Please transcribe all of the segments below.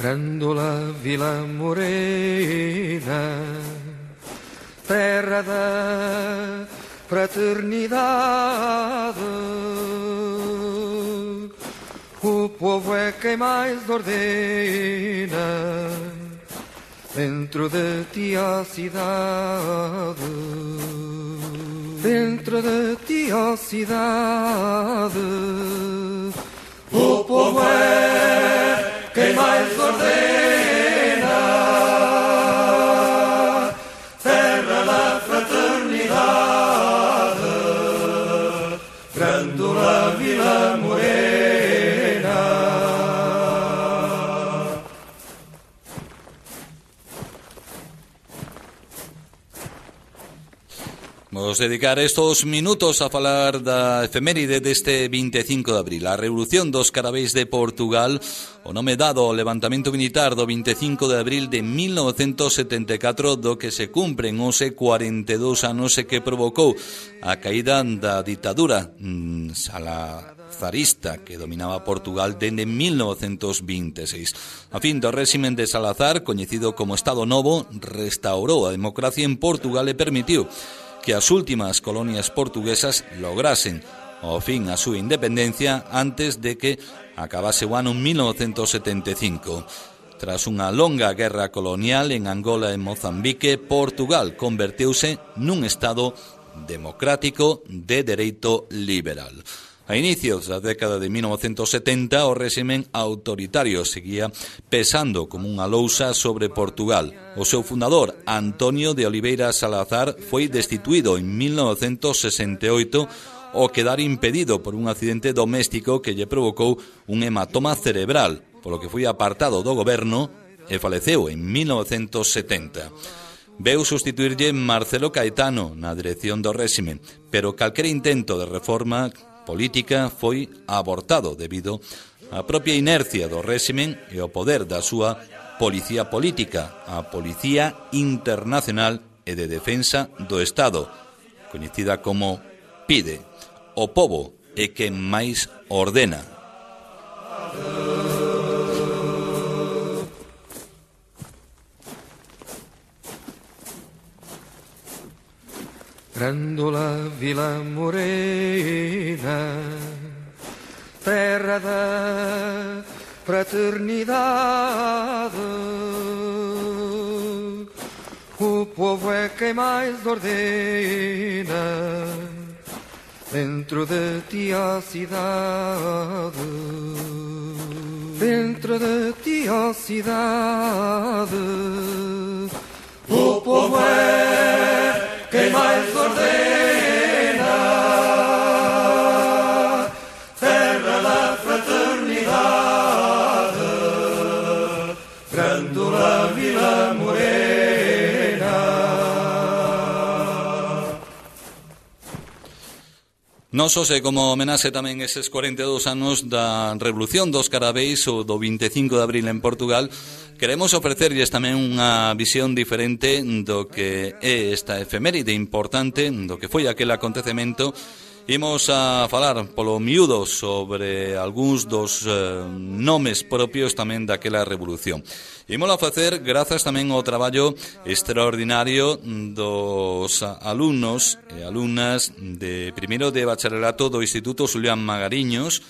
Grândola Vila Morena, terra da fraternidade, o povo é quem mais ordena, dentro de ti a cidade, dentro de ti a cidade, o povo é quem mais ordena, terra da fraternidade, Grândola Vila Morena. Vamos dedicar estos minutos a falar da efeméride deste 25 de abril, a Revolución dos Caraveis de Portugal, o nome dado ao levantamento militar do 25 de abril de 1974, do que se cumpren hoxe 42 anos e que provocou a caída da ditadura salazarista que dominaba Portugal dende 1926. A fin do réximen de Salazar, coñecido como Estado Novo, restaurou a democracia en Portugal e permitiu que as últimas colonias portuguesas lograsen ao fin a súa independencia antes de que acabase o ano 1975. Tras unha longa guerra colonial en Angola e Mozambique, Portugal converteuse nun Estado democrático de dereito liberal. A inicios da década de 1970, o réximen autoritario seguía pesando como unha lousa sobre Portugal. O seu fundador, Antonio de Oliveira Salazar, foi destituído en 1968 ao quedar impedido por un accidente doméstico que lle provocou un hematoma cerebral, polo que foi apartado do goberno e faleceu en 1970. Veu sustituirlle Marcelo Caetano na dirección do réximen, pero calquera intento de reforma política foi abortado debido á propia inercia do réximen e ao poder da súa policía política, a Policía Internacional e de Defensa do Estado, coñecida como PIDE. O pobo é quen máis ordena. Grândola Vila Morena, terra da fraternidade, o povo é quem mais ordena, dentro de ti a cidade, dentro de ti a cidade, o povo é quem mais ordena, terra da fraternidade, Grândola Vila Morena. Non só se como homenaxe tamén eses 42 anos da Revolución dos Caraveis ou do 25 de abril en Portugal, queremos ofrecerlles tamén unha visión diferente do que é esta efeméride importante, do que foi aquel acontecemento. Imos a falar polo miúdo sobre algúns dos nomes propios tamén daquela revolución. Imos a facer grazas tamén ao traballo extraordinario dos alumnos e alumnas de primeiro de bacharelato do Instituto Xulián Magariños,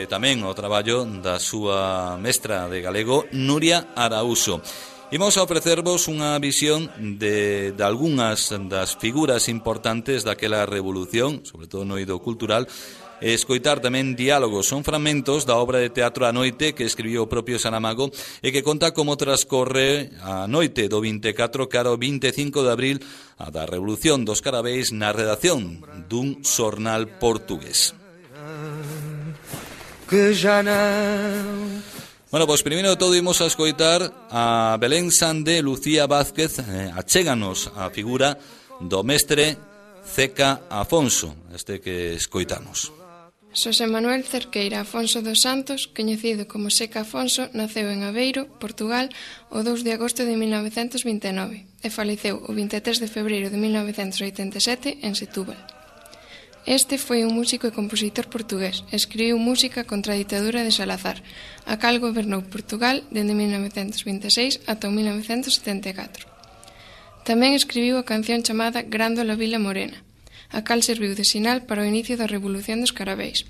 tamén ao traballo da súa mestra de galego, Nuria Araúso. Imos a ofrecervos unha visión de algunhas das figuras importantes daquela revolución, sobre todo no eido cultural, e escoitar tamén diálogos. Son fragmentos da obra de teatro A Noite que escribiu o propio Saramago e que conta como transcorre a noite do 24 cara ao 25 de abril a da Revolución dos Caraveis na redacción dun xornal portugués. Que já não. Bueno, pois primeiro de todo imos a escoitar a Belén Sande Lucía Vázquez, achéganos a figura do mestre Ceca Afonso, este que escoitamos. Xosé Manuel Cerqueira Afonso dos Santos, coñecido como Seca Afonso, naceu en Aveiro, Portugal, o 2 de agosto de 1929 e faleceu o 23 de febreiro de 1987 en Setúbal. Este foi un músico e compositor portugués. Escribiu música contra a ditadura de Salazar, a cal gobernou Portugal dende 1926 ata 1974. Tamén escribiu a canción chamada Grándola Vila Morena, a cal serviu de sinal para o inicio da Revolución dos Carabeis.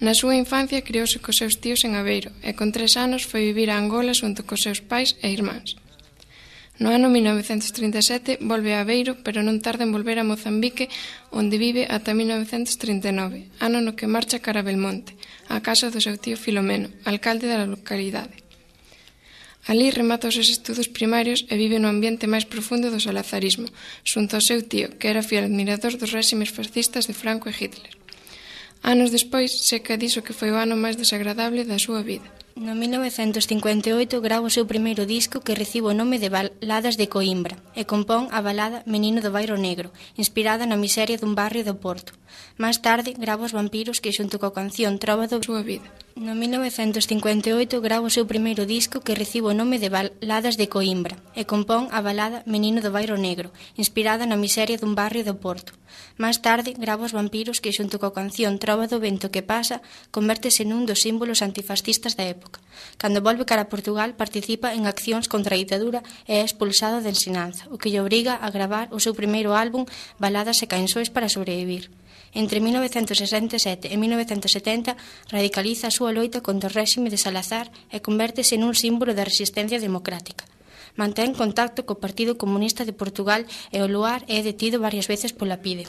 Na súa infancia criouse cos seus tíos en Aveiro e con 3 anos foi vivir a Angola xunto cos seus pais e irmáns. No ano 1937 volve a Aveiro, pero non tarda en volver a Mozambique, onde vive ata 1939, ano no que marcha cara a Belmonte, a casa do seu tío Filomeno, alcalde da localidade. Alí remata os seus estudos primarios e vive no ambiente máis profundo do salazarismo, xunto ao seu tío, que era fiel admirador dos réximes fascistas de Franco e Hitler. Anos despois, Seca dixo que foi o ano máis desagradable da súa vida. No 1958 grava o seu primeiro disco que recibe o nome de Baladas de Coimbra e compón a balada Menino do Bairro Negro, inspirada na miseria dun barrio do Porto. Máis tarde grava Os Vampiros que xunto coa canción Trova da súa vida. No 1958 grava o seu primeiro disco que recibe o nome de Baladas de Coimbra e compón a balada Menino do Bairro Negro, inspirada na miseria dun barrio do Porto. Máis tarde grava Os Vampiros que xunto coa canción Trova do vento que pasa convértese nun dos símbolos antifascistas da época. Cando volve cara a Portugal participa en accións contra a ditadura e é expulsado de ensinanza, o que lle obriga a gravar o seu primeiro álbum Baladas e canções para sobrevivir. Entre 1967 e 1970 radicaliza a súa loita contra o réxime de Salazar e convértese nun símbolo da resistencia democrática. Mantén contacto co Partido Comunista de Portugal e o luar é detido varias veces pola PIDE.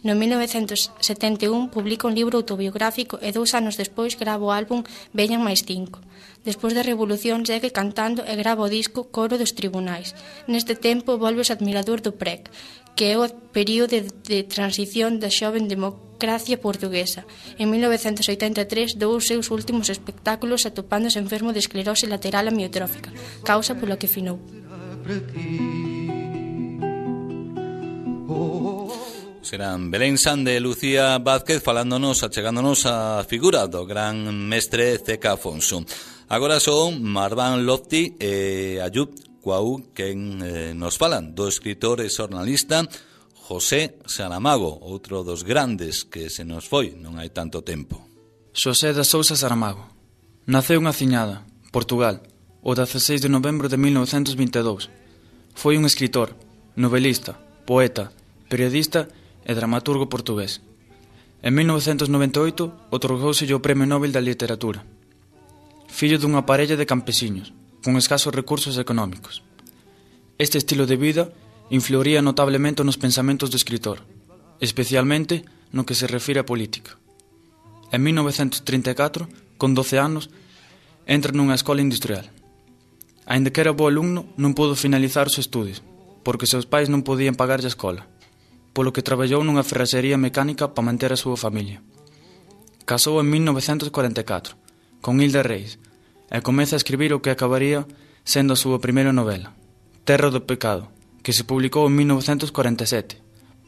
No 1971 publica un libro autobiográfico e 2 anos despois grava o álbum Veñan máis 5. Despois da Revolución segue cantando e grava o disco Coro dos Tribunais. Neste tempo volve o admirador do PREC, que é o período de transición da xoven democracia portuguesa. En 1983 dou os seus últimos espectáculos atopándose enfermo de esclerose lateral amiotrófica, causa pola que finou. Serán Belén Sande e Lucía Vázquez falándonos, achegándonos a figura do gran mestre Zeca Afonso. Agora son Marván Lofti e Ayub Cuau quen nos falan do escritor e xornalista José Saramago, outro dos grandes que se nos foi non hai tanto tempo. Xosé da Sousa Saramago naceu en Aciñada, Portugal, o 16 de novembro de 1922. Foi un escritor, novelista, poeta, periodista e dramaturgo portugués. En 1998 outorgouselle o Premio Nobel da Literatura. Fillo dunha parella de campesiños, con escasos recursos económicos. Este estilo de vida influiría notablemente nos pensamentos do escritor, especialmente no que se refire á política. En 1934, con 12 anos, entra nunha escola industrial. Aínda que era bo alumno, non pudo finalizar os estudios, porque seus pais non podían pagarlle a escola, polo que traballou nunha ferraxería mecánica para manter a súa familia. Casou en 1944, con Hilda Reis, e comeza a escribir o que acabaría sendo a súa primeira novela, Terra do Pecado, que se publicou en 1947,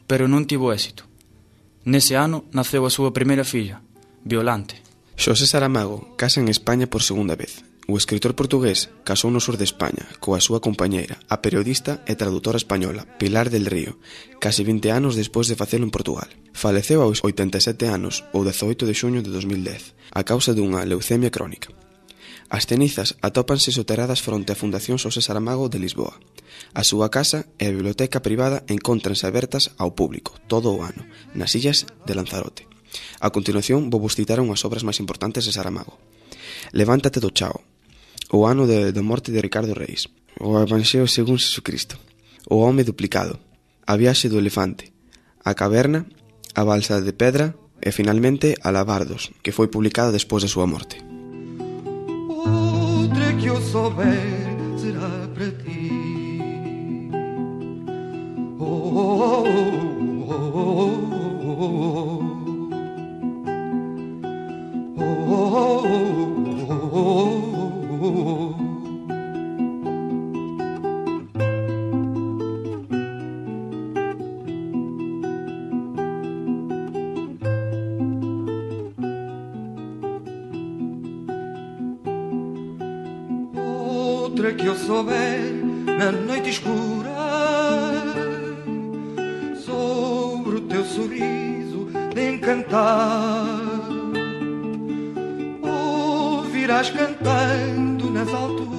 pero non tivo éxito. Nese ano naceu a súa primeira filla, Violante. Xosé Saramago casa en España por segunda vez. O escritor portugués casou no sur de España coa súa compañeira, a periodista e tradutora española Pilar del Río, casi 20 anos despois de facelo en Portugal. Faleceu aos 87 anos o 18 de xuño de 2010 a causa dunha leucemia crónica. As cenizas atópanse soterradas fronte á Fundación Xosé Saramago de Lisboa. A súa casa e a biblioteca privada encóntranse abertas ao público todo o ano, nas illas de Lanzarote. A continuación vou vos citar unhas obras máis importantes de Saramago. Levántate do chao, o ano da morte de Ricardo Reis, o Evanxeo según Jesucristo, o home duplicado, a viaxe do elefante, a caverna, a balsa de pedra e finalmente a Labardos, que foi publicada despois da súa morte. Outra que eu souber será para ti. Oh, oh, oh, oh, oh. Outra que eu souber na noite escura, sobre o teu sorriso de encantar. Ouvirás cantando nas alturas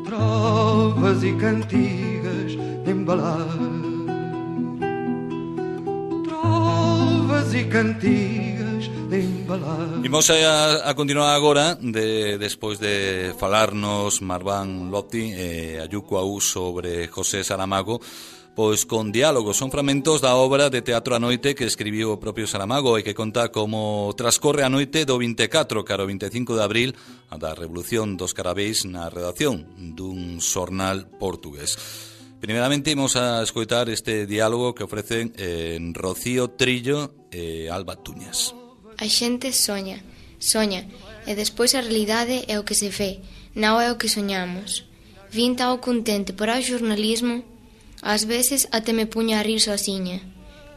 trovas e cantigas de embalar. Trovas e cantigas de embalar. Imos a continuar agora despois de falarnos Marván Lotti e Ayuco Aú sobre José Saramago, pois con diálogos. Son fragmentos da obra de teatro A Noite que escribiu o propio Saramago e que conta como transcorre a noite do 24 cara ao 25 de abril a da Revolución dos Carabeis na redacción dun xornal portugués. Primeiramente imos a escoitar este diálogo que ofrecen Rocío Trillo e Alba Tuñas. A xente soña, e despois a realidade é o que se ve, non é o que soñamos. Vin tao contente por ao xornalismo. Ás veces até me puña a rir sozinha.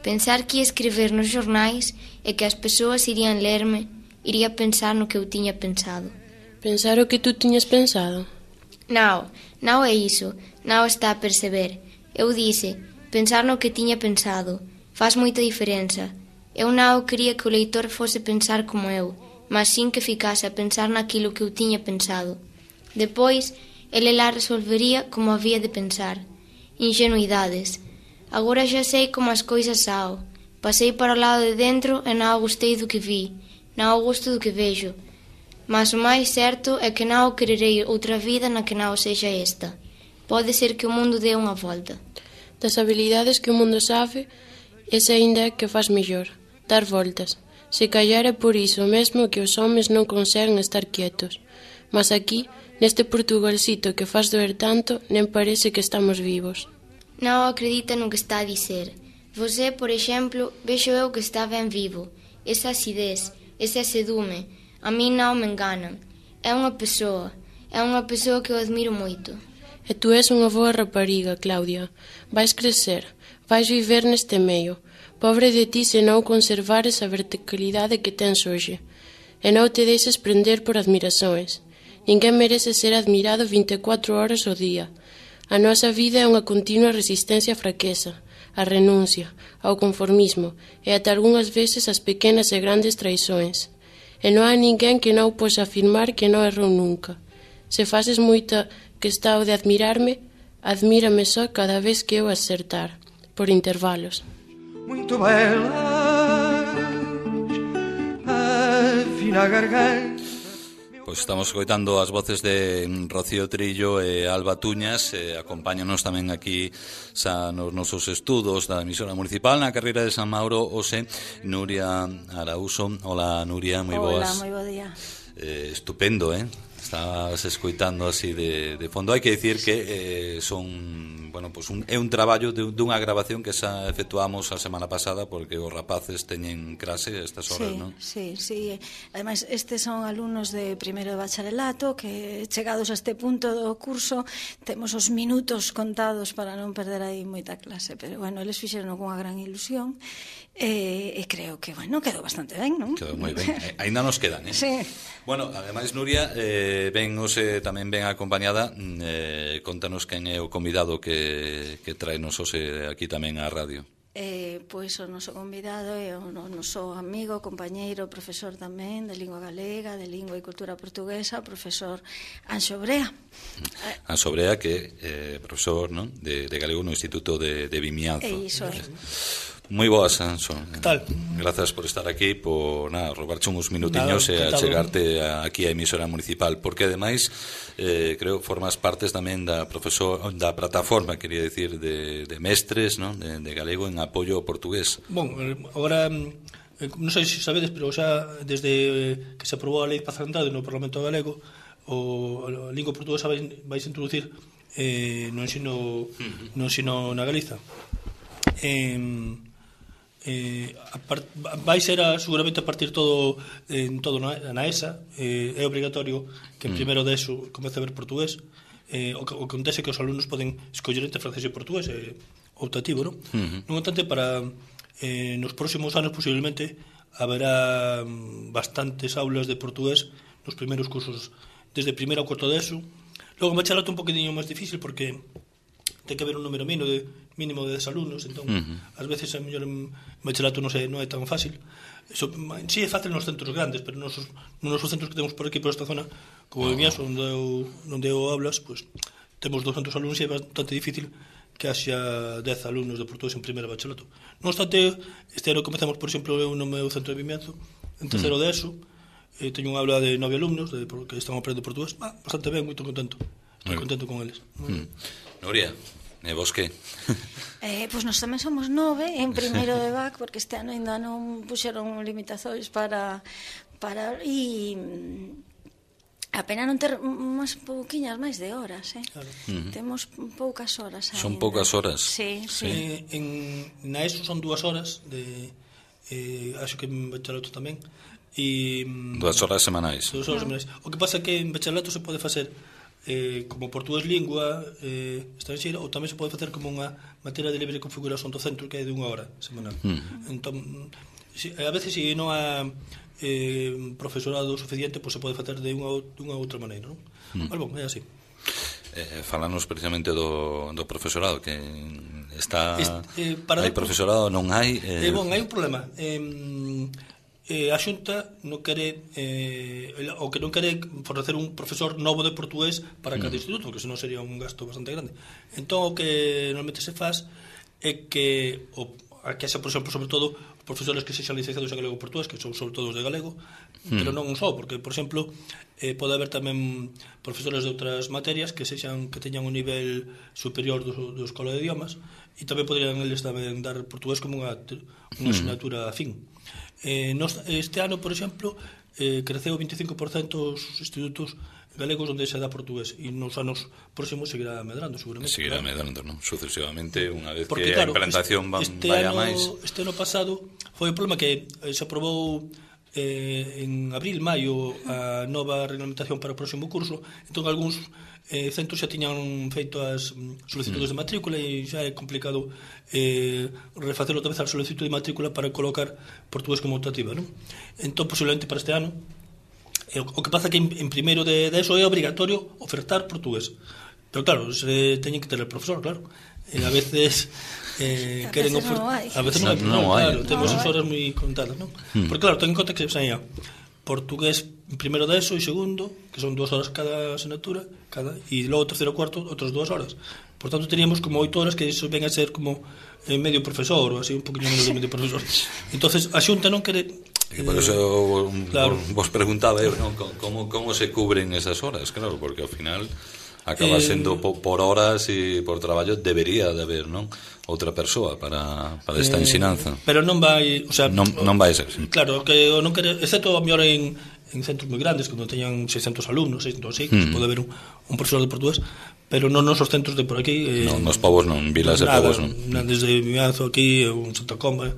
Pensar que ia escrever nos xornais e que as persoas irían lerme, iría pensar no que eu tiña pensado. Pensar o que tú tiñas pensado? Non é iso, non está a perceber. Eu dixe, pensar no que tiña pensado, faz moita diferenza. Eu non quería que o leitor fose pensar como eu, mas sin que ficase a pensar naquilo que eu tiña pensado. Depois, ele lá resolvería como había de pensar. Ingenuidades. Agora xa sei como as coisas sao. Pasei para o lado de dentro e non gostei do que vi, non gosto do que vexo. Mas o máis certo é que non quererei outra vida na que non sexa esta. Pode ser que o mundo dé unha volta. Das habilidades que o mundo sabe, esa ainda é que faz mellor, dar voltas. Se callar é por iso mesmo que os homes non conseguen estar quietos. Mas aquí, neste Portugalcito que faz doer tanto, nem parece que estamos vivos. Non acredita no que está a dizer. Você, por exemplo, vexo eu que está ben vivo. Esa acidez, ese asedume, a mí non me enganan. É unha persoa que eu admiro moito. E tú és unha boa rapariga, Claudia. Vais crecer, vais viver neste meio. Pobre de ti se non conservares a verticalidade que tens hoxe. E non te deixes prender por admirações. Ninguén merece ser admirado 24 horas ao día. A nosa vida é unha continua resistencia á fraqueza, á renuncia, ao conformismo e ata algunhas veces as pequenas e grandes traiçóns. E non hai ninguén que non posa afirmar que non errou nunca. Se faces moita que está o de admirarme, admírame só cada vez que eu acertar, por intervalos. Muito belas, afina a garganta. Pois estamos escoitando as voces de Rocío Trillo e Alba Tuñas, acompáñanos tamén aquí nos nosos estudos da emisora municipal na carreira de San Mauro hoxe Nuria Arauso. Hola Nuria, moi boas. Hola, moi bo día. Estupendo, Estabas escoitando así de fondo. Hai que dicir que son, bueno, pues é un traballo dunha grabación que xa efectuamos a semana pasada porque os rapaces teñen clase a estas horas, non? Sí. Ademais, estes son alumnos de primeiro de bacharelato que chegados a este punto do curso temos os minutos contados para non perder aí moita clase, pero bueno, eles fixeron cunha gran ilusión e creo que, bueno, quedou bastante ben, non? Quedou moi ben, ainda nos quedan, Sí. Bueno, ademais Nuria tamén ben acompañada, contanos quen é o convidado que traenos hoxe aquí tamén á radio. Pois o noso convidado é o noso amigo, compañeiro, profesor tamén de lingua galega, de lingua e cultura portuguesa, o profesor Anxo Brea. Anxo Brea, que é profesor, non? de galego no Instituto de Vimianzo. Iso é. Moi boas, Anxo. Que tal? Grazas por estar aquí, por robarche uns minutiños e a chegarte aquí a emisora municipal, porque ademais creo formas partes tamén da plataforma, quería decir, de mestres, non? De galego en apoio ao portugués. Bon, agora non sei se sabedes, pero xa desde que se aprobou a lei de pazantade no Parlamento Galego, a lingua portuguesa vais introducir no ensino na Galiza. Vai ser seguramente a partir todo na ESA. É obrigatorio que en primeiro de ESO comece a ver portugués. O que acontece que os alumnos poden escoller entre francés e portugués, optativo, non? Non obstante, para nos próximos anos posiblemente haberá bastantes aulas de portugués nos primeiros cursos desde primeiro ao cuarto de ESO. Logo en bacharelato un poquinho máis difícil porque ten que haber un número mínimo de mínimo de 10 alumnos, entón ás veces a mellor en bachelato non é tan fácil. Sí é fácil nos centros grandes, pero nos centros que temos por aquí, por esta zona, como de Miaso, onde eu hablas, pues, temos 200 alumnos e é bastante difícil que haxa 10 alumnos de portugués en primeiro bachelato. Non obstante, este ano comezamos, por exemplo, eu no meu centro de Vimianzo, en terceiro de ESO, teño unha aula de 9 alumnos que están aprendendo portugués, bastante ben, moito contento. Estou contento con eles. Nuria, e vos que? Pois nós tamén somos 9 en primeiro de BAC, porque este ano ainda non puxeron limitacións para e a pena non ter unhas pouquiñas máis de horas, Claro. Temos poucas horas ainda. Son poucas horas? Sí. Na ESO son 2 horas acho que en bachelato tamén. 2 horas semanais. 2 horas semanais. O que pasa é que en bachelato se pode facer como portugués lingua estranxeira, ou tamén se pode facer como unha materia de libre configuración do centro, que é de 1 hora semanal. Entón, a veces se non há profesorado suficiente, pois se pode facer de unha outra maneira, non? Mas bom, é así. Falanos precisamente do profesorado, que está hai profesorado, non hai? Bon, hai un problema. A Xunta non quere o que non quere fornecer un profesor novo de portugués para cada instituto, porque senón sería un gasto bastante grande. Entón o que normalmente se faz é que que xa, por exemplo, sobre todo os profesores que sexan licenciados en galego portugués, que son sobre todo os de galego, pero non só, porque, por exemplo, pode haber tamén profesores de outras materias que teñan un nivel superior do Escola de Idiomas, e tamén poderían eles tamén dar portugués como unha asignatura afín. Este ano, por exemplo, creceu 25% os institutos galegos onde se dá portugués, e nos anos próximos seguirá medrando, seguramente. Seguirá medrando, non? Sucesivamente, unha vez que a implantación vaya máis. Este ano pasado foi o problema que se aprobou en abril, maio a nova reglamentación para o próximo curso, entón algúns centros xa tiñan feito as solicitudes de matrícula e xa é complicado refacer outra vez a solicitud de matrícula para colocar portugués como optativa, non? Entón, posiblemente para este ano, o que pasa que en primeiro de eso é obrigatorio ofertar portugués, pero claro, se teñen que ter el profesor, claro, e a veces queren ofertar, a veces non hai, claro, temos as horas moi contadas, non? Porque claro, ten en conta que saía portugués en primeiro de ESO e segundo, que son 2 horas cada asignatura, e logo terceiro e cuarto outras 2 horas. Por tanto, teríamos como 8 horas, que iso ven a ser como medio profesor, ou así, un poquinho menos de medio profesor. Entonces, a Xunta non quere... Por eso vos preguntaba eu, non? Como se cubren esas horas, claro, porque ao final acaba sendo por horas e por traballo debería de haber, non? Outra persoa para esta ensinanza. Pero non vai, o sea, non vai ser, sí. Claro, que non quere, excepto a mellor en centros moi grandes, que non teñan 600 alumnos, 600 así, que pode haber un profesor de portugués, pero non nos centros de por aquí. Non, nos povos non, vilas e povos non. Desde Mianzo aquí, un Santa Comba,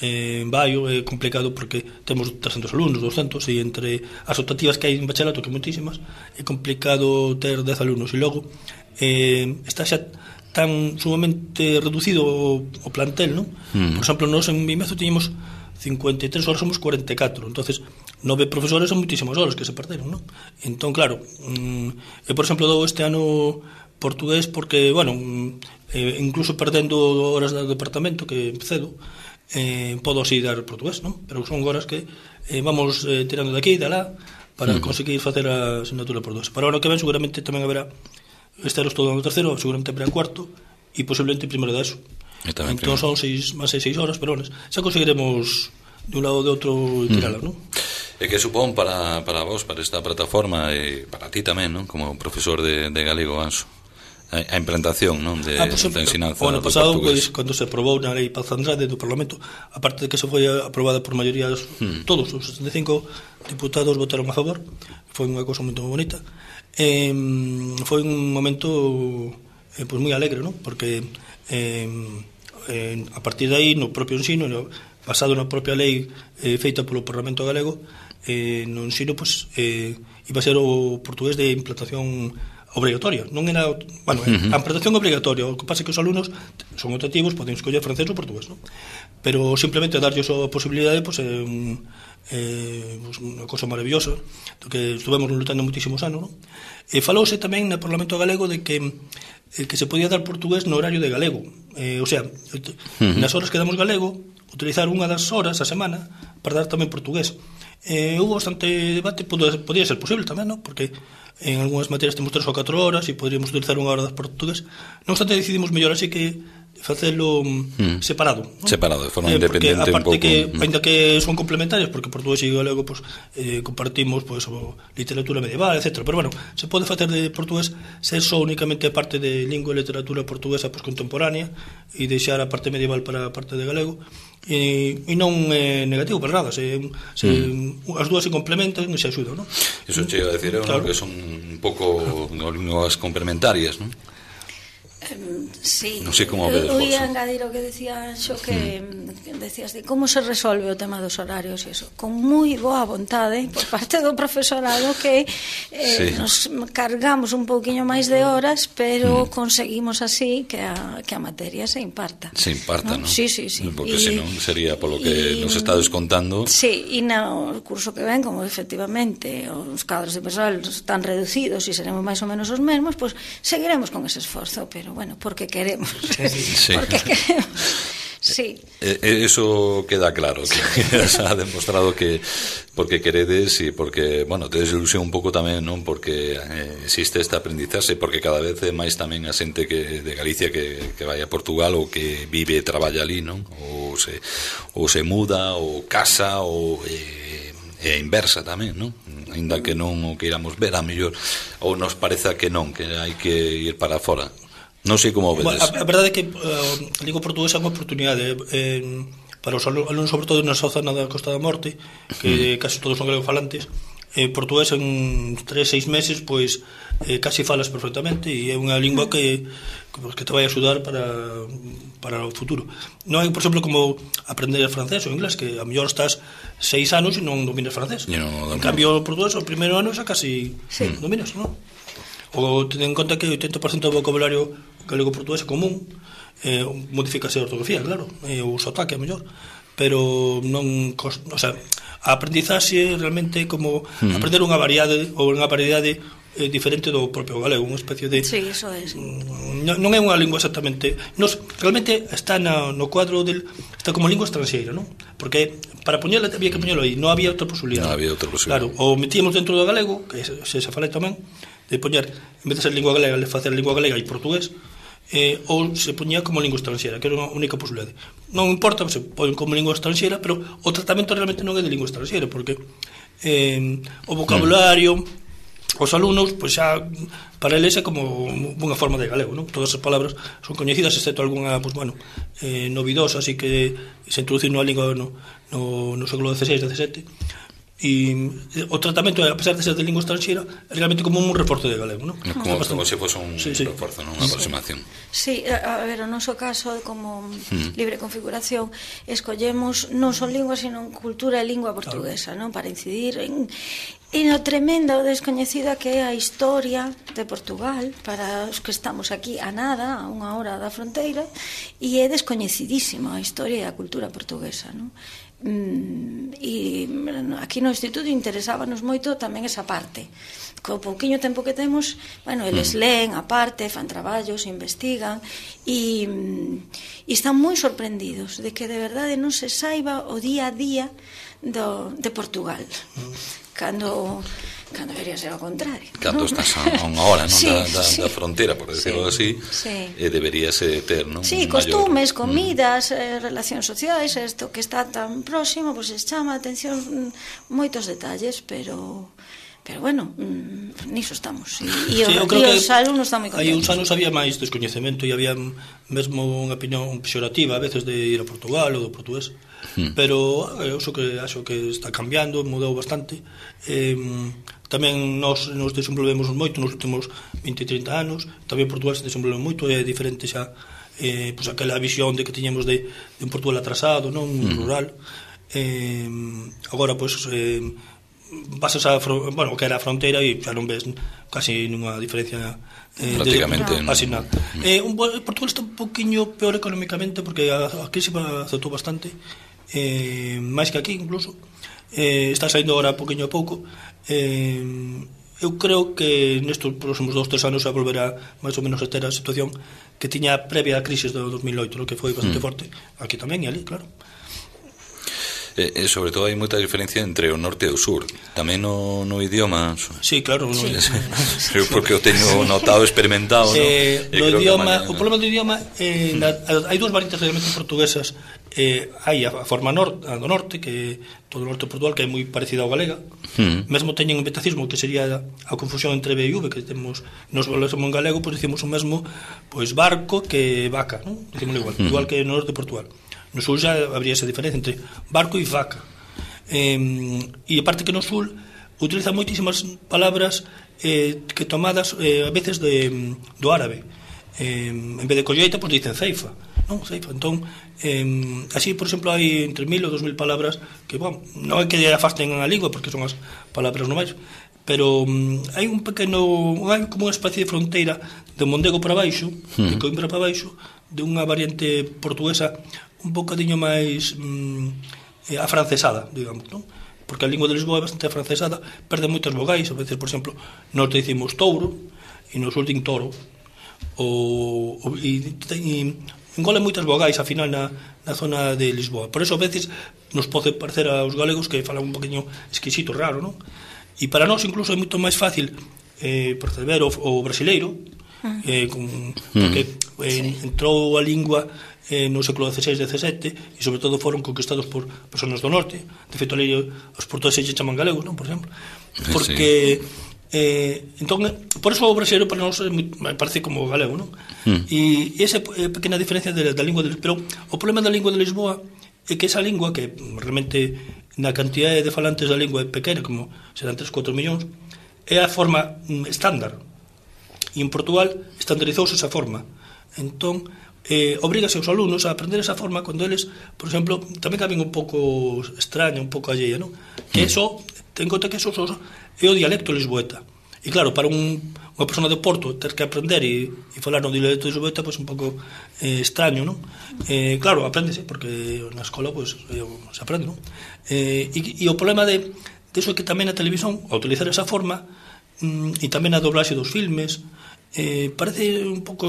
en Baio é complicado porque temos 300 alumnos, 200, e entre as optativas que hai en bachelato, que moitísimas, é complicado ter 10 alumnos, e logo está xa tan sumamente reducido o plantel, non? Por exemplo, nós en Vimezo tiñemos 53 horas, somos 44, entonces 9 profesores son moitísimas horas que se perderon, non? Entón, claro, por exemplo, dou este ano portugués porque, bueno, incluso perdendo horas do departamento que cedo, podo así dar portugués, non? Pero son horas que vamos tirando de aquí e de alá para conseguir facer a asignatura portugués. Para o ano que ven seguramente tamén haberá, este ano estou dando terceiro, seguramente haberá cuarto e posiblemente primeiro de eso. Entón son máis 6 horas, pero xa conseguiremos de un lado ou de outro tirala, non? E que supón para vos, para esta plataforma e para ti tamén, non? Como profesor de galego, Anso, a implantación, non, de ensinanza o ano pasado, pois, cando se aprobou na lei Paz Andrade do Parlamento, aparte de que se foi aprobada por maioría todos os 65 diputados votaron a favor, foi unha cousa moi bonita, foi un momento pois moi alegre, non? Porque a partir de aí, no propio ensino, basado na propia lei feita polo Parlamento Galego, no ensino, pois, iba a ser o portugués de implantación obrigatoria, non era, bueno, a implantación obrigatoria, o que pasa é que os alumnos son optativos, poden escoller francés ou portugués, non? pero simplemente darlle a posibilidade pois, unha cosa maravillosa que estuvemos lutando moitísimos anos, non? E falouse tamén no Parlamento galego de que se podía dar portugués no horario de galego, o sea, nas horas que damos galego utilizar unha das horas a semana para dar tamén portugués. Hubo bastante debate, podía ser posible tamén, non? Porque en algunhas materias temos 3 ou 4 horas e poderíamos utilizar unha hora de portugués. Non obstante, decidimos mellor así que facelo separado, non? Separado, de forma independente un pouco. Que, ainda que son complementarias, porque portugués e galego pues, compartimos pues, literatura medieval, etc. Pero bueno, se pode facer de portugués ser só únicamente a parte de lingua e literatura portuguesa pues, contemporánea e deixar a parte medieval para a parte de galego e non é negativo para nada, as dúas se complementan e se axudan, non? Iso chega a decir, claro, que son un pouco linguas complementarias, non? Sí, non sei como vedes vos. Eu ia engadir o que decía Xo, que decías de como se resolve o tema dos horarios e iso, con moi boa vontade por parte do profesorado que nos cargamos un pouquiño máis de horas, pero conseguimos así que a materia se imparta. Se imparta, non? Sí. Porque senón sería polo que nos está descontando. Sí, e no curso que ven, como efectivamente os cadros de persoal están reducidos e seremos máis ou menos os mesmos, pues seguiremos con ese esforzo, pero bueno, porque queremos. Sí. Porque queremos. Sí. Eso queda claro, que se ha demostrado que porque queredes e porque, bueno, tedes ilusión un pouco tamén, non? Porque existe este aprendizaxe, porque cada vez é máis tamén a xente que de Galicia que vai a Portugal ou que vive e traballa ali, non? Ou se muda, ou casa, ou e a inversa tamén, non? Ainda que non o queiramos ver, a mellor ou nos pareza que non, que hai que ir para fora. Non sei como vedes. A verdade é que a lingua portuguesa é unha oportunidade para os alumnos, sobre todo na zona da Costa da Morte, que casi todos son galegofalantes. Portugués en 3-6 meses pois casi falas perfectamente e é unha lingua que te vai axudar para o futuro. Non é, por exemplo, como aprender francés ou inglés, que a mellor estás 6 anos e non dominas francés. En cambio, o portugués, o primeiro ano xa casi dominas, non? O ten en conta que o 80% do vocabulario galego-portugués é común, modifícase a ortografía, claro, o sotaque a mellor, pero non, o sea, a aprendizaxe realmente como aprender unha variedade ou unha variedade diferente do propio galego, unha especie de... Sí, iso é. Non é unha lingua exactamente... Realmente está no cuadro del... Está como lingua estranxeira, non? Porque para poñela había que poñelo aí, non había outra posibilidade. Non había outra posibilidade. Claro, o metíamos dentro do galego, que se falei tamén, de poñer, en vez de ser lingua galega, facer lingua galega e portugués, ou se poñía como lingua estranxeira, que era unha única posibilidade. Non importa, se pon como lingua estranxeira, pero o tratamento realmente non é de lingua estranxeira, porque o vocabulario, os alumnos, pois xa para eles é como unha forma de galego, non? Todas as palabras son coñecidas, excepto algunha, pois bueno, novidosa, así que se introduciu na lingua no século XVI, XVII. E o tratamento, a pesar de ser de lingua estranxeira, é realmente como un reforzo de galego, non? Como se fose un reforzo, non? Unha aproximación. Sí, a ver, o noso caso como libre configuración escollemos non son linguas, sino cultura e lingua portuguesa, non? Para incidir en o tremenda o descoñecida que é a historia de Portugal para os que estamos aquí a nada, a unha hora da fronteira, e é descoñecidísima a historia e a cultura portuguesa, non? E aquí no instituto interesábanos moito tamén esa parte. Co pouquiño tempo que temos, bueno, eles leen a parte, fan traballos, investigan e están moi sorprendidos de que de verdade non se saiba o día a día de Portugal. Cando debería ser ao contrario. Cando estás a unha hora, non? Da fronteira, por decirlo así, deberíase ter, non? Sí, costumes, comidas, relacións sociais, isto que está tan próximo, pois chama a atención moitos detalles, pero bueno, niso estamos. E os alumnos están moi contentos. Hai uns anos había máis descoñecemento e había mesmo unha opinión pexorativa a veces de ir a Portugal ou do portugués, pero eu acho que está cambiando, mudou bastante. Tamén nos desenvolvemos moito nos últimos 20-30 anos, tamén Portugal se desenvolveu moito, é diferente xa pois aquela visión de que tiñamos de un Portugal atrasado, non rural. Agora pois pasas bueno, que era a fronteira e xa non ves casi nunha diferencia prácticamente casi nada. Portugal está un poquinho peor económicamente porque a crise afectou bastante, máis que aquí incluso. Está saindo agora poquinho a pouco. Eu creo que nestes próximos 2-3 anos a volverá máis ou menos a ter a situación que tiña previa a crise do 2008, que foi bastante forte aquí tamén e ali, claro. Sobre todo hai moita diferencia entre o norte e o sur, tamén no idioma. Sí, claro, porque o teño notado, experimentado, no? No idioma, o problema do idioma, hai dúas variantes realmente portuguesas. Hai a forma do norte, que todo o norte de Portugal, que é moi parecida ao galega. Mesmo teñen un betacismo que sería a confusión entre B e V, que temos, nos falamos en galego, pois dicimos o mesmo, pois barco que vaca, non? Dicimos igual que no norte de Portugal. No sul xa habría esa diferencia entre barco e vaca. E aparte que no sul utiliza moitísimas palabras que tomadas a veces do árabe. En vez de colleita, pois dicen ceifa, non? Ceifa. Entón, así, por exemplo, hai entre 1000 ou 2000 palabras que, bueno, non é que afasten a lingua porque son as palabras normais, pero hai un pequeno, hai como unha especie de fronteira de Mondego para baixo, de Coimbra para baixo, de unha variante portuguesa un bocadiño máis afrancesada, digamos, non? Porque a lingua de Lisboa é bastante afrancesada, perde moitas vogais, a veces, por exemplo, nos decimos touro e nos sul din toro, e engole moitas vogais ao final na zona de Lisboa. Por eso a veces nos pode parecer aos galegos que falan un poquinho exquisito, raro, non? E para nós incluso é moito máis fácil perceber o brasileiro, porque entrou a lingua no século XVI e XVII e sobre todo foron conquistados por personas do norte. De feito, ali os portugueses se chaman galegos, non? Por exemplo, porque entón, por eso o brasileiro para nós parece como galego, non? E esa pequena diferencia da lingua pero o problema da lingua de Lisboa é que esa lingua, que realmente na cantidade de falantes da lingua é pequena, como serán 3-4 millóns, é a forma estándar, e en Portugal estandarizouse esa forma. Entón obrígase aos alumnos a aprender esa forma cando eles, por exemplo, tamén caben un pouco extraña, un pouco alleia, non? Que eso, ten conta que eso é o dialecto lisboeta. E claro, para unha persona de Porto ter que aprender e falar no dialecto lisboeta, pois un pouco extraño, non? Claro, apréndese, porque na escola pois se aprende, non? E o problema de eso é que tamén a televisión, ao utilizar esa forma, e tamén a doblaxe dos filmes, parece un pouco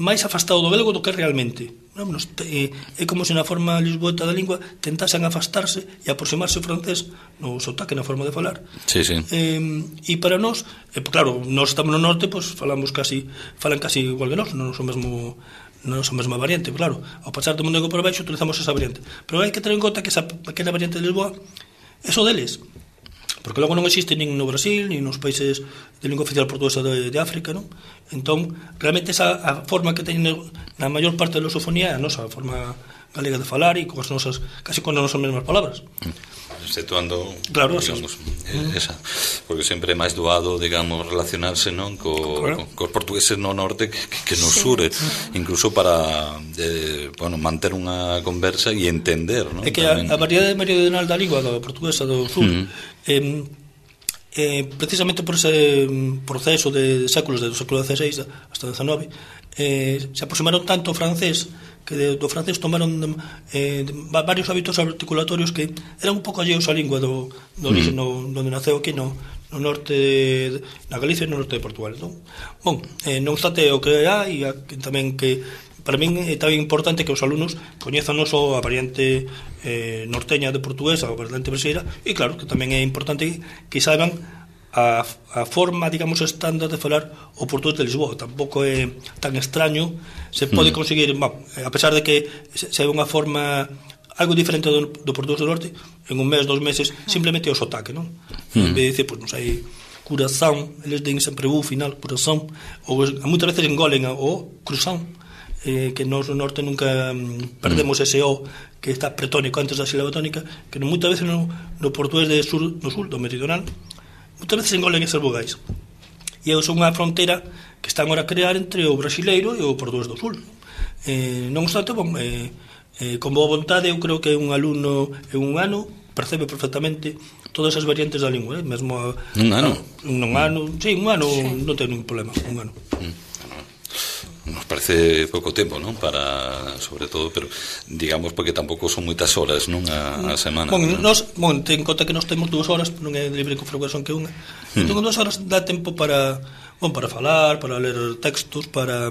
máis afastado do galego do que realmente, non? É como se na forma lisboeta da lingua tentasen afastarse e aproximarse ao francés no sotaque, na forma de falar. E para nós, claro, nós estamos no norte, pois falan casi igual que nós, non son a mesma variante, claro. Ao pasar do Mondego para baixo utilizamos esa variante, pero hai que ter en conta que esa pequena variante de Lisboa é só deles, porque logo non existe nin no Brasil, nin nos países de lingua oficial portuguesa de África, non? Entón, realmente esa a forma que teñen na maior parte da lusofonía é a nosa forma galega de falar e coas nosas, casi con as nosas mesmas palabras. Exceptuando, claro, digamos, esa, porque sempre é máis doado, digamos, relacionarse, non, cos portugueses no norte que no sur, incluso para manter unha conversa e entender, non? É que a variedade meridional da lingua da portuguesa do sur precisamente por ese proceso de séculos, do século XVI hasta o XIX, se aproximaron tanto ao francés que do francés tomaron varios hábitos articulatorios que eran un pouco alleos á lingua do origen onde naceu aquí no norte, na Galicia e no norte de Portugal, non? Bon, non obstante o que hai tamén que para min é tamén importante que os alumnos coñezan non só a variante norteña de portuguesa ou a variante brasileira, e claro que tamén é importante que saiban a forma, digamos, estándar de falar o portugués de Lisboa. Tampouco é tan extraño, se pode conseguir, a pesar de que se hai unha forma algo diferente do portugués do norte, en un mes, 2 meses, simplemente o sotaque, non? En vez de dicir, pois non sei, curazán, eles den sempre u final, curazán, ou moitas veces engolen o cruzán, que nos no norte nunca perdemos ese o que está pretónico antes da sílaba tónica, que moitas veces no portugués no sur, do meridional, moitas veces engolen esas vogais. E é unha fronteira que están agora a crear entre o brasileiro e o portugués do sul. Non obstante, con boa vontade, eu creo que un alumno en un ano percebe perfectamente todas as variantes da lingua, mesmo un ano. Un ano non ten ningún problema, un ano. Nos parece pouco tempo, non? Para, sobre todo, pero digamos porque tampouco son moitas horas, non? A semana. Ten en conta que nós temos 2 horas, non é libre con frecuencia que unha. Entón, 2 horas dá tempo para falar, para ler textos, para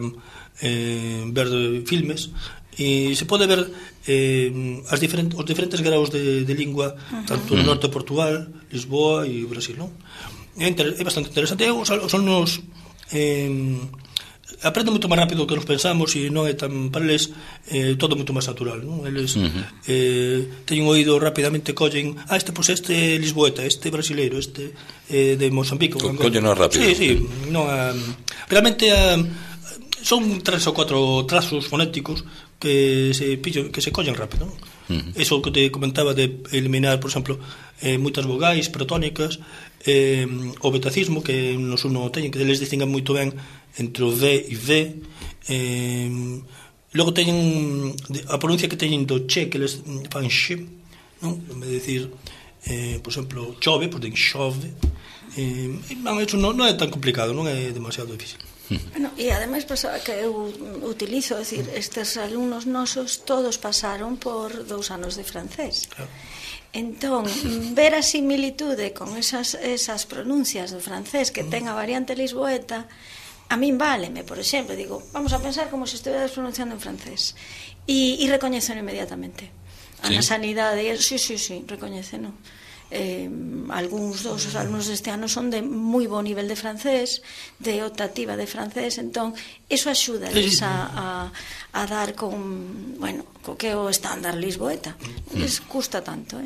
ver filmes, e se pode ver os diferentes graus de lingua, tanto no norte de Portugal, Lisboa e Brasil, non? É bastante interesante. Os alumnos aprenden moito máis rápido que nos pensamos e non é tan para eles todo moito máis natural, non? Eles teñen oído rapidamente, collen este lisboeta, este brasileiro, este de Mozambique, collen rápido. Sí, non, realmente son 3 ou 4 trazos fonéticos que se collen rápido, non? Eso que te comentaba de eliminar, por exemplo, moitas vogais protónicas, o betacismo que nos uno teñen, que eles distingan moito ben entre o D e V, logo teñen a pronuncia que teñen do che, que eles fan xe, non? En vez de decir, por exemplo, chove, pois den xove. Eso non é tan complicado, non é demasiado difícil. Bueno, e ademais pasaba que eu utilizo, decir, estes alumnos nosos todos pasaron por 2 anos de francés. Claro. Entón, ver a similitude con esas pronuncias do francés que ten a variante lisboeta, a min váleme, por exemplo, digo, vamos a pensar como se estiveras pronunciando en francés, e recoñecen inmediatamente. A na sanidade, sí, recoñecen, non? Algúns dos alumnos deste ano son de moi bo nivel de francés, de optativa de francés, entón eso axuda a dar con, bueno, co que é o estándar lisboeta. Les custa tanto,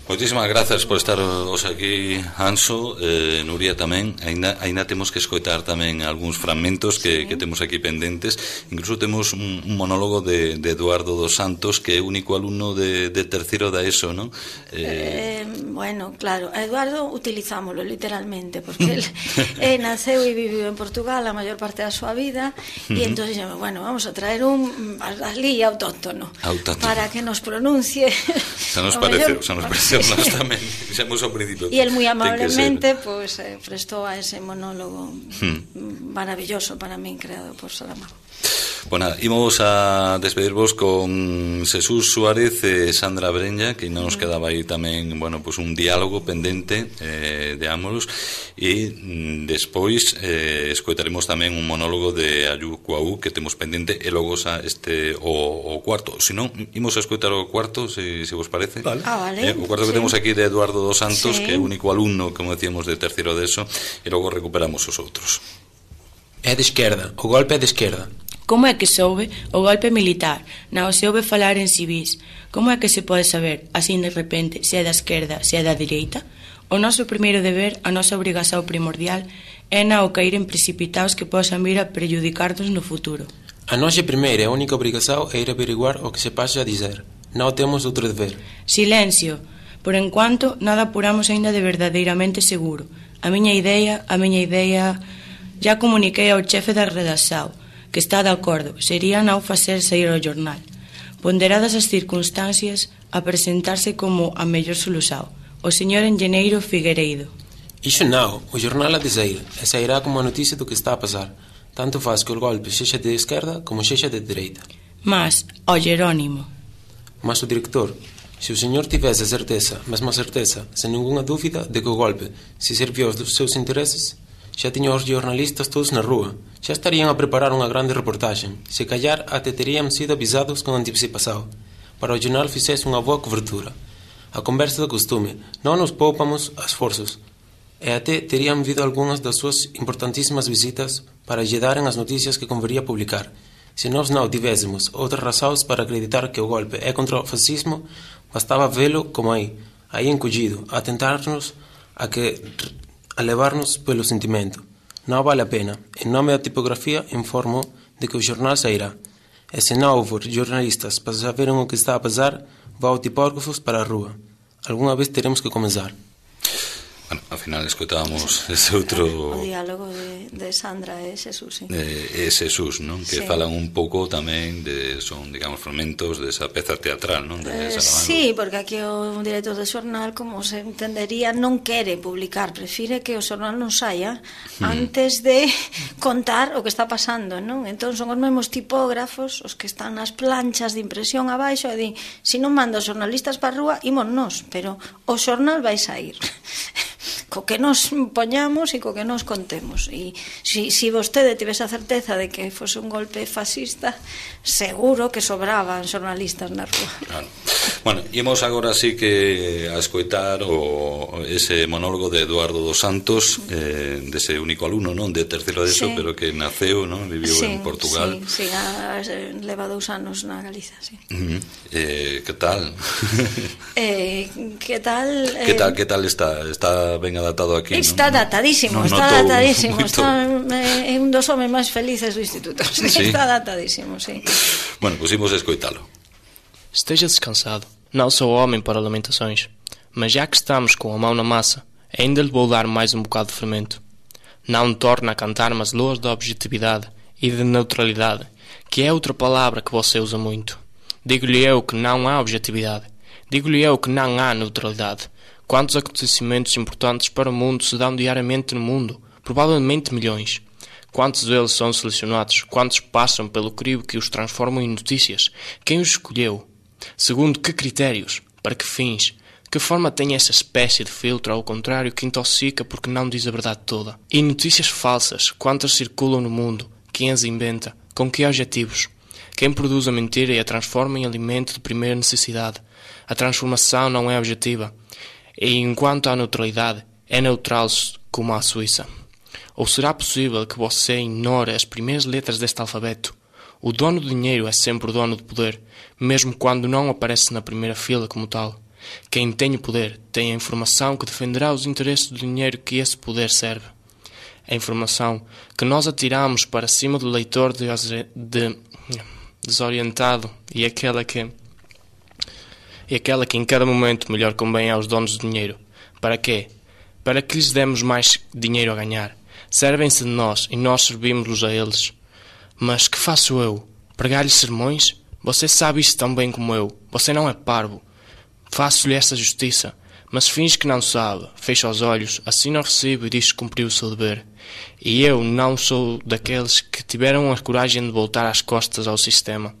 Moitísimas grazas por estar hoxe aquí, Anso, Nuria tamén. Ainda temos que escoitar tamén algúns fragmentos que temos aquí pendentes. Incluso temos un monólogo de Eduardo dos Santos, que é o único alumno de terceiro da ESO, non? Bueno, claro, a Eduardo utilizámoslo literalmente, porque él naceu e viviu en Portugal a maior parte da súa vida, e entón dixemos, bueno, vamos a traer un alí autóctono para que nos pronuncie. Xa nos pareceu. Nós tamén fixemos ao principio. E el moi amablemente prestou a ese monólogo maravilloso para min, creado por Saramago. Bueno, imos a despedirvos con Jesús Suárez e Sandra Breña, que non nos quedaba aí tamén, bueno, pues un diálogo pendente de ambos, e despois escoitaremos tamén un monólogo de Ayu Cuau que temos pendente, e logo o cuarto. Se non, imos a escoitar o cuarto, se vos parece. Vale. O cuarto que temos aquí de Eduardo dos Santos, que é o único alumno, como decíamos, de terceiro de ESO, e logo recuperamos os outros. É de esquerda, o golpe é de esquerda. Como é que soube o golpe militar? Non se ouve falar en civís. Como é que se pode saber, así de repente, se é da esquerda, se é da direita? O noso primeiro deber, a nosa obrigación primordial, é non caer en precipitados que posan vir a prejudicarnos no futuro. A nosa primeira e única obrigación é ir averiguar o que se pasa a dizer. Non temos outro deber. Silencio. Por enquanto, nada apuramos aínda de verdadeiramente seguro. A miña idea, já comuniquei ao chefe da redacción, que está de acordo, sería non facer sair ao jornal. Ponderadas as circunstancias, a presentarse como a mellor solución, o señor enxeñeiro Figueiredo. Iso non, o jornal a dizer, e sairá como a noticia do que está a pasar. Tanto faz que o golpe sexa de esquerda como sexa de dereita. Mas, ao Jerónimo. Mas o director, se o señor tivese a certeza, mesmo a certeza, sen ninguna dúbida, de que o golpe se serviu aos seus intereses, xa tiña os jornalistas todos na rúa, xa estarían a preparar unha grande reportaxe, se callar até terían sido avisados con anticipación, para o jornal fixese unha boa cobertura. A conversa do costume, non nos poupamos esforzos, e até terían vido algunhas das súas importantísimas visitas para lle daren as noticias que convería publicar. Se nós non tivésemos outras razóns para acreditar que o golpe é contra o fascismo, bastaba velo como aí encollido, a tentarnos a levarnos polo sentimento. Non vale a pena. En nome da tipografía informo de que o jornal sairá. E se non houver jornalistas para saberem o que está a pasar, vá ao tipógrafos para a rúa. Alguna vez teremos que comenzar. Bueno, ao final escoitábamos ese outro... O diálogo de Sandra e Xesús, sí. E Xesús, non? Que falan un pouco tamén son, digamos, fragmentos desa peza teatral, non? Sí, porque aquí o director do xornal, como se entendería, non quere publicar, prefire que o xornal non saia antes de contar o que está pasando, non? Entón son os mesmos tipógrafos os que están nas planchas de impresión abaixo e din, se non manda os xornalistas para a rúa, imos nós, pero o xornal vai sair co que nos poñamos e co que nos contemos. E se vostede tivese a certeza de que fose un golpe fascista, seguro que sobraban xornalistas na rúa. Claro. Bueno, imos agora sí que a escoitar ese monólogo de Eduardo dos Santos, dese único alumno, non, de terceiro de ESO, pero que naceu, non, viviu en Portugal. Sí, leva 2 anos na Galiza, sí. Que tal? Que tal? Que tal está? Está ben adaptado aquí, non? Está adaptadísimo, é un dos homes máis felices do instituto. Está adaptadísimo, sí. Bueno, pois imos escoitalo. Esteja descansado. Não sou homem para lamentações, mas já que estamos com a mão na massa, ainda lhe vou dar mais um bocado de fermento. Não torna a cantar-me as loas da objetividade e de neutralidade, que é outra palavra que você usa muito. Digo-lhe eu que não há objetividade. Digo-lhe eu que não há neutralidade. Quantos acontecimentos importantes para o mundo se dão diariamente no mundo? Provavelmente milhões. Quantos deles são selecionados? Quantos passam pelo crivo que os transformam em notícias? Quem os escolheu? Segundo que critérios? Para que fins? Que forma tem essa espécie de filtro, ao contrário, que intoxica porque não diz a verdade toda? E notícias falsas? Quantas circulam no mundo? Quem as inventa? Com que objetivos? Quem produz a mentira e a transforma em alimento de primeira necessidade? A transformação não é objetiva. E enquanto à neutralidade, é neutral como a Suíça. Ou será possível que você ignore as primeiras letras deste alfabeto? O dono do dinheiro é sempre o dono do poder, mesmo quando não aparece na primeira fila como tal. Quem tem o poder tem a informação que defenderá os interesses do dinheiro que esse poder serve. A informação que nós atiramos para cima do leitor desorientado e aquela que em cada momento melhor convém aos donos do dinheiro. Para quê? Para que lhes demos mais dinheiro a ganhar. Servem-se de nós e nós servimos-los a eles. Mas que faço eu? Pregar-lhes sermões? Você sabe isso tão bem como eu. Você não é parvo. Faço-lhe essa justiça. Mas finge que não sabe. Fecha os olhos, assina o recibo e diz que cumpriu o seu dever. E eu não sou daqueles que tiveram a coragem de voltar às costas ao sistema.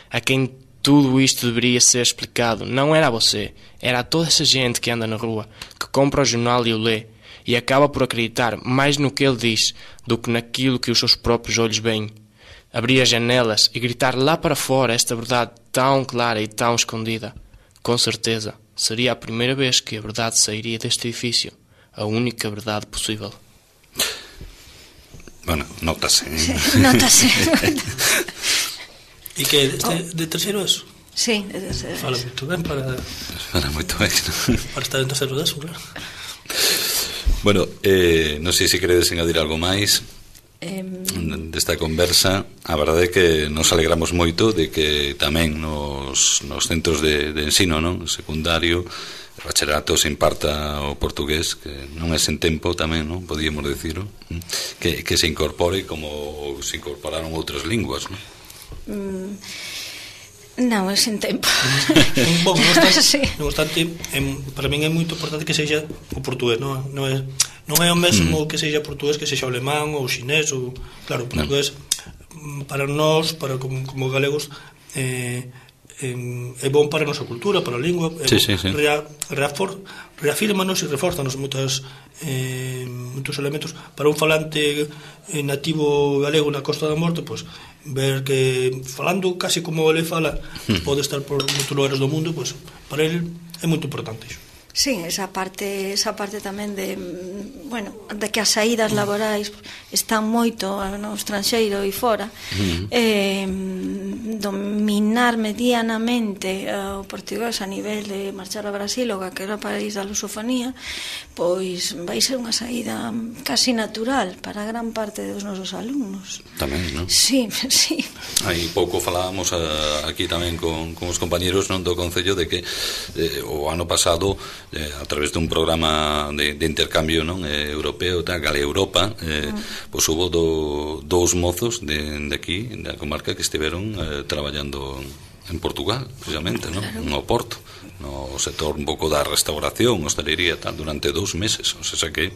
A quem tudo isto deveria ser explicado não era a você, era a toda essa gente que anda na rua, que compra o jornal e o lê, e acaba por acreditar mais no que ele diz do que naquilo que os seus próprios olhos veem. Abrir as janelas e gritar lá para fora esta verdade tão clara e tão escondida. Com certeza, seria a primeira vez que a verdade sairia deste edifício, a única verdade possível. Bueno, nota-se. Nota-se. E que de terceiro eso? Sí, de terceiro. Fala moito ben para estar en terceiro eso, claro. Bueno, non sei se queredes engadir algo máis desta conversa. A verdade é que nos alegramos moito de que tamén nos centros de ensino, non, secundario, bachillerato, se imparta o portugués, que non é sen tempo tamén, non, podíamos decirlo, que se incorpore como se incorporaron outras linguas, non? Non, é sen tempo. Non obstante, para min é moito importante que sexa o portugués, non é o mesmo que sexa portugués que sexa o alemán ou o xinés, ou claro, o portugués para nós, para como galegos, é bon para a nosa cultura, para a lingua, reafírmanos e reforzanos moitos elementos. Para un falante nativo galego na Costa da Morte, pois ver que falando casi como ele fala pode estar por moitos lugares do mundo, pois para ele é moito importante iso. Sí, esa parte tamén de, bueno, de que as saídas laborais están moito no estranxeiro e fora. Dominar medianamente o portugués a nivel de marchar a Brasil ou a que era o país da lusofonía, pois vai ser unha saída casi natural para gran parte dos nosos alumnos. Tamén, non? Sí. Aí pouco falábamos aquí tamén con os compañeros, non, do Concello, de que o ano pasado a través dun programa de intercambio, non, europeo, tal, Gale Europa, pois hubo dous mozos de aquí, da comarca, que estiveron traballando en Portugal, precisamente, non? No Porto, no sector un pouco da restauración, hostelería, tal, durante 2 meses, o sea que,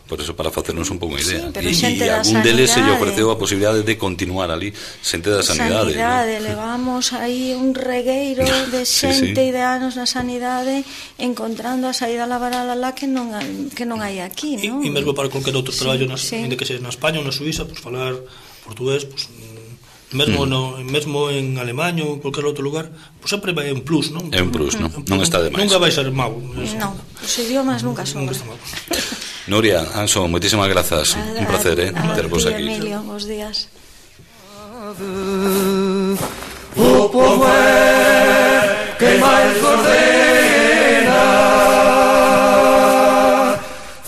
por eso, para facernos un pouco unha idea. E algún deles se lle ofreceu a posibilidade de continuar ali, xente da sanidade. Levamos aí un regueiro de xente e de anos na sanidade encontrando a saída laboral alá que non hai aquí, non? E mesmo para calquer outro traballo, ainda que sexa na España ou na Suiza, pues falar portugués, pues mesmo en Alemanha ou en calquer outro lugar, pues sempre é un plus, non? É un plus, non? Non está de máis. Nunca vai ser mau. Non, os idiomas nunca son. Nuria, Anso, moitísimas grazas. Un placer, tervos aquí. Emilio, bons días. O povo é que máis ordena,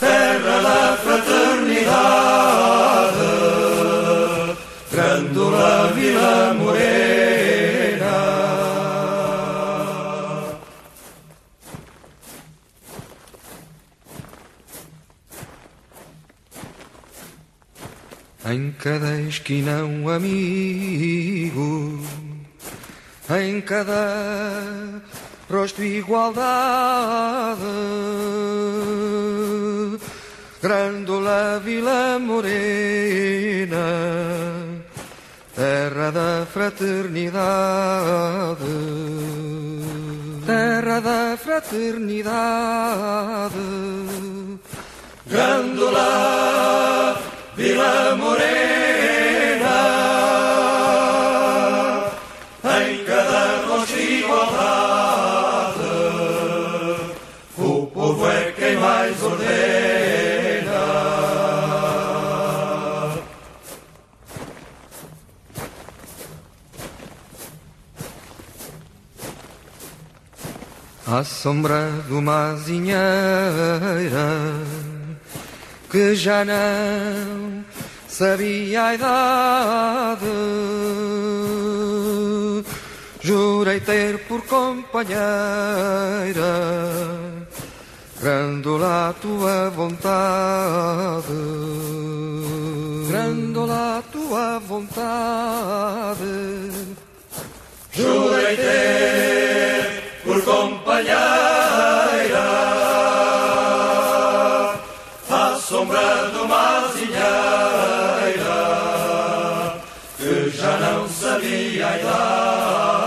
terra da fraternidade, Grândola Vila Morena. Em cada esquina um amigo, em cada rosto igualdade, Grândola Vila Morena, terra da fraternidade, terra da fraternidade, Grândola Vila Morena, em cada rosto igualdade, o povo é quem mais ordena. À sombra de uma azinheira que já não sabia a idade, jurei ter por companheira Grândola a tua vontade, Grândola a tua vontade, jurei ter por companheira à sombra de uma azinheira que já não sabia a idade,